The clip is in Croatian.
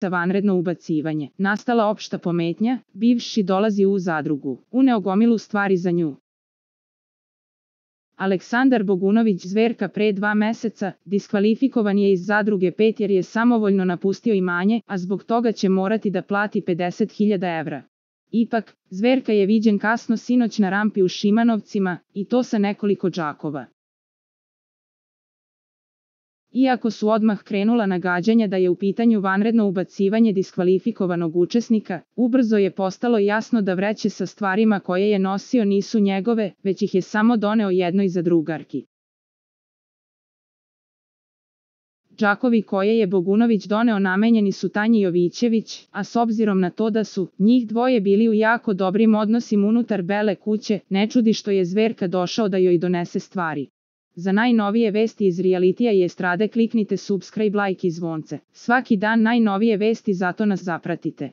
vanredno ubacivanje. Nastala opšta pometnja, bivši dolazi u zadrugu. Uneo gomilu stvari za nju. Aleksandar Bogunović Zverka pre 2 meseca diskvalifikovan je iz zadruge 5 jer je samovoljno napustio imanje, a zbog toga će morati da plati 50.000 evra. Ipak, Zverka je viđen kasno sinoć na rampi u Šimanovcima, i to sa nekoliko džakova. Iako su odmah krenula nagađanja da je u pitanju vanredno ubacivanje diskvalifikovanog učesnika, ubrzo je postalo jasno da vreće sa stvarima koje je nosio nisu njegove, već ih je samo doneo jednoj zadrugarki. Džakovi koje je Bogunović doneo namenjeni su Tanji Jovićević, a s obzirom na to da su njih dvoje bili u jako dobrim odnosima unutar Bele kuće, ne čudi što je Zverka došao da joj donese stvari. Za najnovije vesti iz realitija i estrade kliknite subscribe, like i zvonce. Svaki dan najnovije vesti, zato nas zapratite.